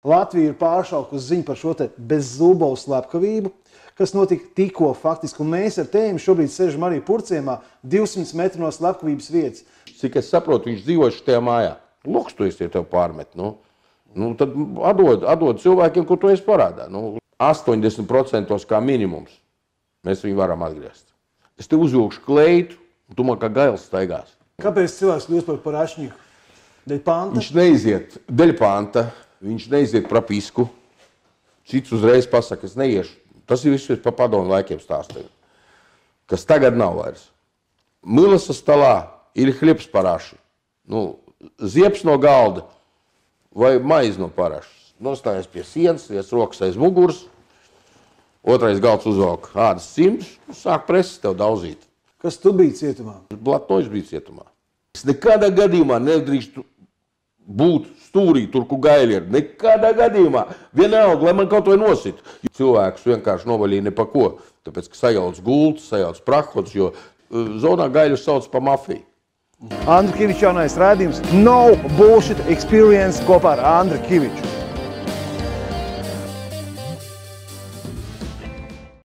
Latvija ir pāršaukusi ziņu par šo te Bezzubovas slepkavību, kas notika tikko faktiski, un mēs ar tēmi šobrīd sežam arī Purciemā 200 metru no slepkavības vietas. Cik es saprotu, viņš dzīvojuši tajā mājā. Luks, tu esi tev pārmet. Nu, tad atdod cilvēkiem, ko tu esi parādā. 80% kā minimums mēs viņu varam atgriezt. Es te uzvilkšu kleitu, un tu man kā gails staigās. Kāpēc cilvēks kļūst par parašņiku? Dēļ panta? Viņš neiziet dēļ panta, viņš neiziet prapisku. Cits uzreiz pasaka, es neiešu. Tas ir viss pa padomu laikiem stāstīju. Kas tagad nav vairs. Milasa stalā ir hliebs paraši. Ziepes no galda vai maize no parašas. Nostājies pie sienas, viens rokas aiz muguras, otrais galds uzvalk ādas cimdus, sāk preses tev daudzīt. Kas tu biji cietumā? Blatnoļs bija cietumā. Es nekādā gadījumā nedrīkstu būt stūrī, tur, kur gaļi ir. Nekādā gadījumā. Vienalga, lai man kaut vai nosit. Cilvēkus vienkārši novaļīja ne pa ko. Tāpēc, ka sajauc gultas, sajauc prahots, jo zonā gaļu sauc pa mafiju. Andra Kiviča jaunais raidījums No Bullshit Experience kopā ar Andru Kiviču.